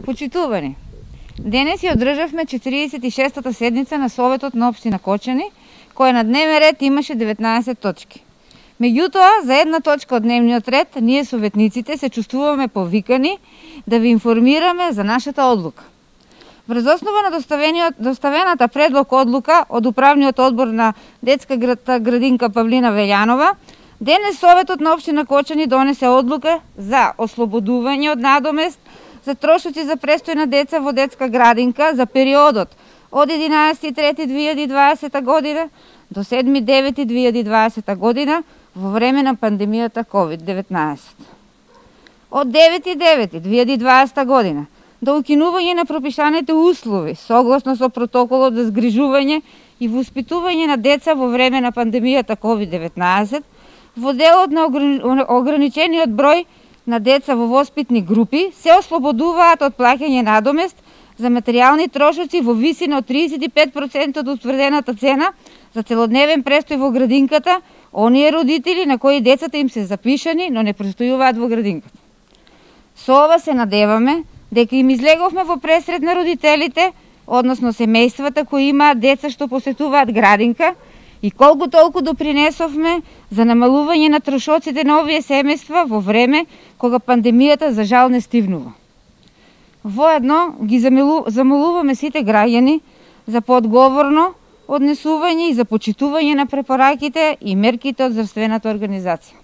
Почитувани, денес ја одржавме 46-та седница на Советот на општина Кочани, која на дневен ред имаше 19 точки. Меѓутоа, за една точка од дневниот ред, ние советниците се чувствуваме повикани да ви информираме за нашата одлука. Врз основа на доставената предлог одлука од Управниот одбор на детска градинка Павлина Велјанова, денес Советот на општина Кочани донесе одлука за ослободување од надомест за трошоци за престој на деца во детска градинка за периодот од 11.3.2020 година до 7.9.2020 година во време на пандемијата COVID-19. Од 9.9.2020 година до укинување на пропишаните услови согласно со протоколот за згрижување и воспитување на деца во време на пандемијата COVID-19 во делот на ограничениот број на деца во воспитни групи се ослободуваат од плаќање надомест за материјални трошоци во висина од 35% од утврдената цена за целодневен престој во градинката оние родители на кои децата им се запишани, но не престојуваат во градинката. Со ова се надеваме дека им излеговме во пресред на родителите, односно семејствата кои имаат деца што посетуваат градинка, и колку толку допринесовме за намалување на трошоците на овие семејства во време кога пандемијата за жал не стивнува. Воедно ги замолуваме сите граѓани за поодговорно однесување и за почитување на препораките и мерките од здравствената организација.